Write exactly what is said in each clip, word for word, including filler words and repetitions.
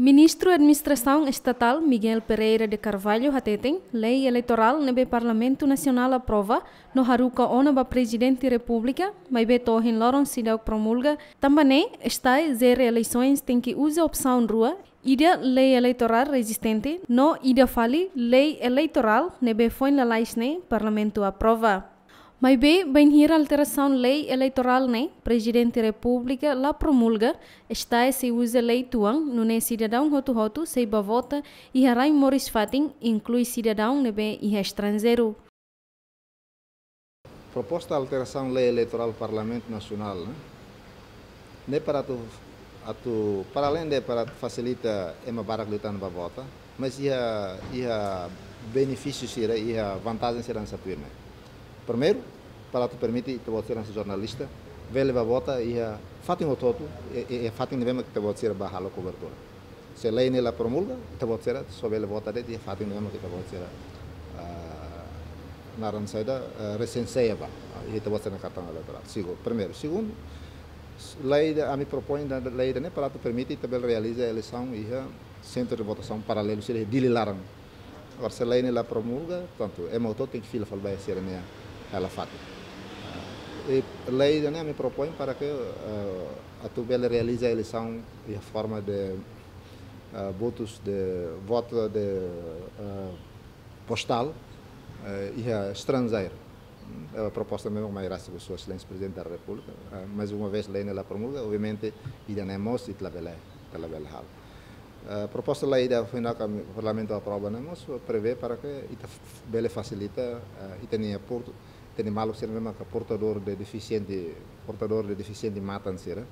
Ministru Administrasaun Estatál Miguel Pereira de Carvalho hateten, lei eleitorál ne'ebé Parlamentu Nasionál aprova no haruka ona ba Prezidente Repúblika, maibé to'o ohin loron seidauk promulga, tanba ne'e STAE jere eleisoens tenke uza opsaun rua, ida lei eleitorál rezistente no ida fali lei eleitorál ne'ebé foin lalais ne'e Parlamentu aprova. Maibé, bainhira alterasaun lei eleitorál ne'e Prezidente Repúblika la promulga, STAE sei uza lei tuan, nune'e sidadaun hotu-hotu sei bá vota iha rai moris fatin, inklui sidadaun ne'ebé iha estranjeiru. Proposta alterasaun lei eleitorál Parlamentu Nasionál, ne'e? Ne'e para atu, atu, para além de para fasilita ema barak liután bá vota, mas iha, iha benefísiu sira, iha vantajen sira hanesan tuirmai. Primeiru, para atu permite ita-boot sira hanesan jornalista bele bá vota iha fatin hotu-hotu, e, e, e fatin ne'ebé mak ita-boot sira bá halo kobertura. Se lei ne'e la promulga, ita-boot sira só bele vota de'it iha fatin ne'ebé mak ita-boot sira, ah, naran saida, ah, resenseia bá, ah, iha ita-boot sira-nia kartaun eleitorál. Segu-, primeiru. Segundu, lei ida, ami propoin ida, lei ida-ne'e para atu permite ita bele realiza eleisaun iha sentru de votasaun paralelu sira iha Dili laran. Agora, se lei ne'e la promulga, portantu, ema hotu tenke fila fali ba sira-nia hela fatin. Ah, i lei ida-ne'e ami propoin para ke, eh, atu bele realiza eleisaun iha forma de, eh, votus de, voto de, eh, postál, eh, iha estranjeiru. Hmm, eh, proposta ne'e mak mai rasik ba Sua Exelénsia Prezidente da Repúblika. Eh, mais uma vez, lei ne'e la promulga, obviamente, ida-ne'e mós ita labele, ita labele halo. Eh, proposta lei ida foin ne'e ka Parlamentu aprova ne'e mós prevee para ke ita f-, bele fasilita, eh, ita-nia portu, ita-nia maluk sira ne'ebé maka portadór de defisiente, portadór de defisiente matan sira,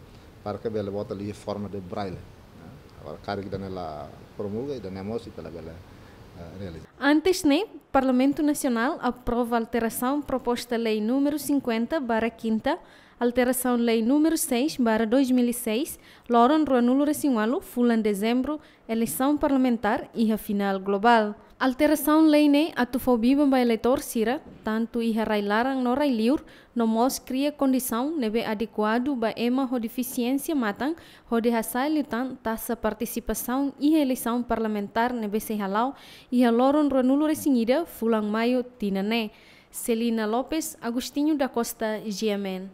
para ke bele vota liu forma de braille. Eh, agora, karik ida-ne'e la promulga, ida-ne'e mós ita labele, eh, realiza. Antes ne'e, Parlamentu Nasionál aprova alterasaun proposta lei númeru cinquenta barra quinta, alterasaun lei númeru seis barra dois mil e seis, loron ruanulu-resin-ualu, fulan dezembru, eleisaun parlamentár iha final globál. Alterasaun lei ne'e atu fó biban ba eleitór sira, tantu iha rai-laran no rai-liur, no mós kria kondisaun ne'ebé adekuadu ba ema ho defisiénsia matan, hodi hasa'e liután taxa partisipasaun iha eleisaun parlamentár ne'ebé sei hala'o iha loron ruanulu-resin-ida, fulan maiu tinan ne'e. Celina Lopes, Agostinho da Costa, G M N.